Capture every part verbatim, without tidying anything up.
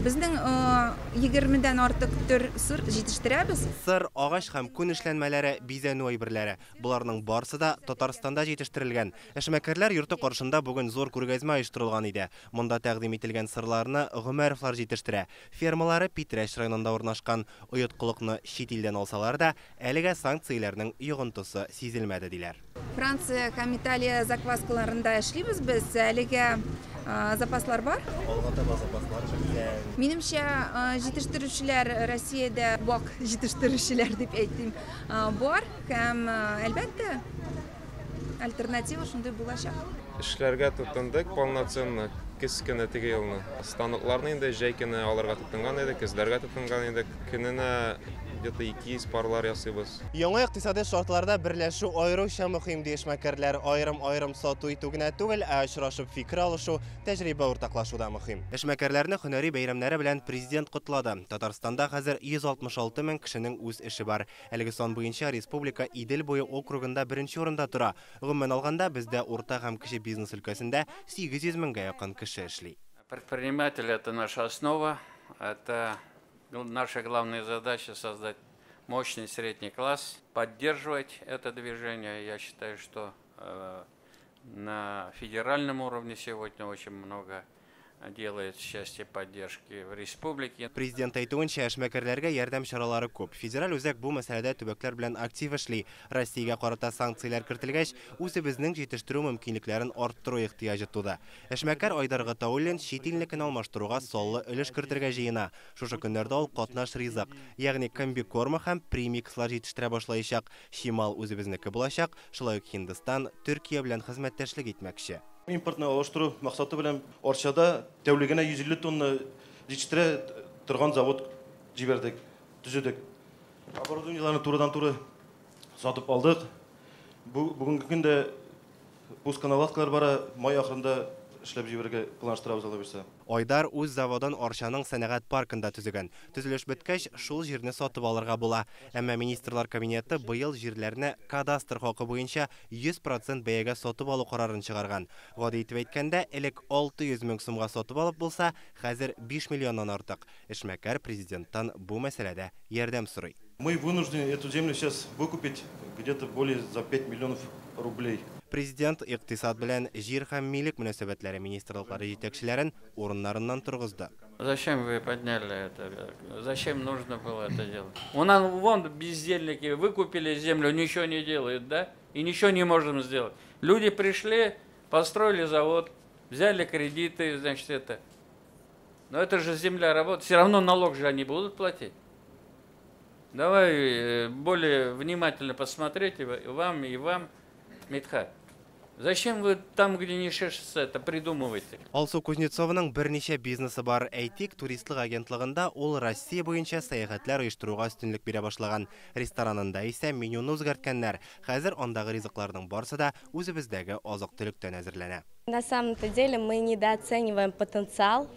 Безнең егермедән артык төр сыр җитештерәбез. Сыр, агач һәм күн эшләнмәләре, бизәнү әйберләре. Боларның барысы да Татарстанда җитештерелгән. Эшмәкәрләр йорты каршында бүген зур күргәзмә оештырылган иде. Монда тәкъдим ителгән сырларны Гомәровлар җитештерә. Фермалары Питрәч районында урнашкан. Оеткылыкны чит илдән алсалар да, әлегә санкцияләрнең йогынтысы сизелмәде, диләр. Франция һәм Италия закваскаларында эшлибез без. Әлегә запаслар бар. Алга таба запаслар беткән. Минемчә, җитештерүчеләр Россиядә вак җитештерүчеләр дип әйтим, бар һәм, әлбәттә, альтернатива шундый булачак. Эшләргә тотындык полноценно көз көне теге елны. Станокларны инде җәй көне алырга тотынган идек, көзләргә тотынган идек. Көненә где-то ике йөз парлар ясыйбыз. Яңа икътисади шартларда берләшү аеруча мөһим, ди эшмәкәрләр. Аерым-аерым сату итү генә түгел, ә очрашып фикер алышу, тәҗрибә уртаклашу да мөһим. Эшмәкәрләрне һөнәри бәйрәмнәре белән президент котлады. Татарстанда хәзер йөз алтмыш алты мең кешенең үз эше бар. Әлеге сан буенча республика Идел буе округында беренче урында тора. Гомумән алганда, бездә урта һәм кече бизнес өлкәсендә сигез йөз меңгә якын кеше эшли. Предприниматель — это наша основа, это наша главная задача — создать мощный средний класс, поддерживать это движение. Я считаю, что, э, на федеральном уровне сегодня очень много делает в части поддержки в республике. Президент әйтүенчә, эшмәкәрләргә ярдәм чаралары күп. Федераль үзәк бу мәсьәләдә төбәкләр белән актив эшли. Россиягә карата санкцияләр кертелгәч, үзебезнең җитештерү мөмкинлекләрен арттыру ихтыяҗы туды. Эшмәкәр Айдар Гатауллин чит илнекен алмаштыруга саллы өлеш кертергә җыена. Шушы көннәрдә ул катнаш ризык, ягъни комбикорма һәм премикслар җитештерә башлаячак. Чимал үзебезнеке булачак, шулай ук Һиндстан, Төркия белән хезмәттәшлек итмәкче. Импортны алыштыру максаты белән Арчада тәүлегенә йөз илле тонна җитештерә торган завод җибәрдек, төзедек. Оборудованиеләрне турыдан-туры сатып алдык. Бу бүгенге көндә пусконаладкалар бара, май ахырында эшләп җибәрергә планлаштырабыз, алла бирсә. Айдар үз заводын Арчаның сәнәгать паркында төзегән. Төзелеш беткәч, шул җирне сатып алырга була. Әмма министрлар кабинеты быел җирләрне кадастр хакы буенча йөз процент бәягә сатып алу карарын чыгарган. Гади итеп әйткәндә, элек алты йөз мең сумга сатып алып булса, хәзер биш миллионнан артык. Эшмәкәр президенттан бу мәсьәләдә ярдәм сорый. Мы вынуждены эту землю сейчас выкупить где-то более за пять миллионов рублей. Президент икътисад белән җир һәм милек мөнәсәбәтләре министрлыклары җитәкчеләрен урыннарыннан торгызды. Зачем вы подняли это? Зачем нужно было это делать? У нас вон бездельники выкупили землю, ничего не делают, да? И ничего не можем сделать. Люди пришли, построили завод, взяли кредиты, значит, это. Но это же земля работает, все равно налог же они будут платить. Давай, э, более внимательно посмотреть и вам, и вам, Мидхат. Зачем вы там, где не шешется, это придумываете? Алсу Кузнецованың берничә бизнесы бар. Әйтик, туристлык агентлыгында ул Россия буенча сәяхәтләр оештыруга өстенлек бирә башлаган. Ресторанында исә менюны үзгәрткәннәр. Хәзер андагы ризыкларның барысы да үзебездәге азык-төлектән әзерләнә. На самом-то деле мы недооцениваем потенциал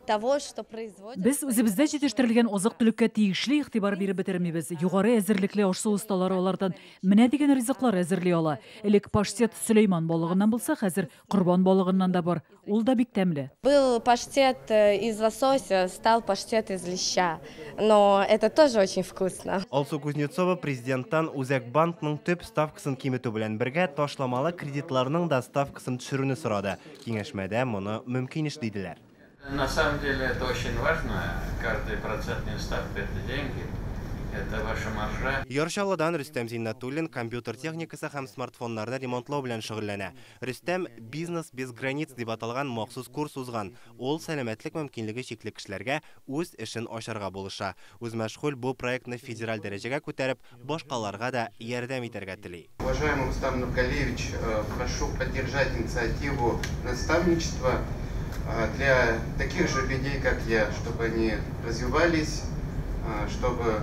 того, что производит. Без үзебездә җитештерелгән азык-төлеккә тиешле игътибар биреп бетермибез. Югары әзерлекле аш-су осталары алардан менә дигән ризыклар әзерли ала. Элек паштет Сөләйман балыгыннан булса, хәзер корбан балыгыннан да бар. Ул да бик тәмле. Был паштет из лосося, стал паштет из леща. Но это тоже очень вкусно. Алсу Кузнецова президенттан Үзәк банкның төп ставкасын киметү белән бергә ташламалы кредитларның да ставкасын төшерүне сорады. Киңәшмәдә моны мөмкин эш диделәр. На самом деле это очень важно. Каждая процентная ставка — это деньги, это ваша маржа. Яр Чаллыдан Рөстәм Зиннатуллин компьютер техникасы һәм смартфоннарны ремонтлау белән шөгыльләнә. Рөстәм «Бизнес без границ» дип аталган махсус курс узган. Ул сәламәтлек мөмкинлеге чикле кешеләргә үз эшен ачарга булыша. Үзмәшгуль бу проектны федераль дәрәҗәгә күтәреп, башкаларга да ярдәм итәргә тели. Уважаемый Рустам Нургалиевич, прошу поддержать инициативу наставничества для таких же людей, как я, чтобы они развивались, чтобы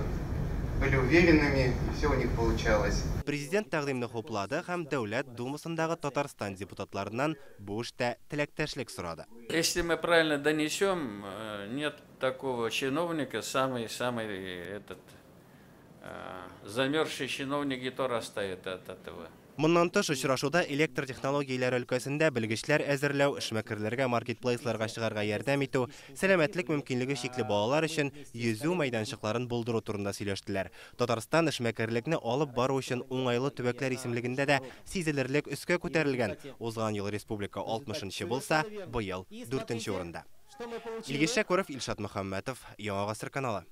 были уверенными, и все у них получалось. Президент тәкъдимне хуплады һәм Дәүләт Думасындагы Татарстан депутатларыннан бу эштә теләктәшлек сорады. Если мы правильно донесем, нет такого чиновника, самый-самый этот, замерзший чиновник и то растает от этого. Моннан тыш, очрашуда электр технологияләре өлкәсендә белгечләр әзерләү, эшмәкәрләргә маркетплейсларга чыгарга ярдәм итү, сәламәтлек мөмкинлеге чикле балалар өчен йөзү мәйданчыкларын булдыру турында сөйләштеләр. Татарстан эшмәкәрлекне алып бару өчен уңайлы төбәкләр исемлегендә дә сизелерлек өскә күтәрелгән. Узган ел республика алтмышынчы булса, быел дүртенче урында. Илгиз Шәкүров, Илшат Мөхәммәтов, Яңа Гасыр каналы.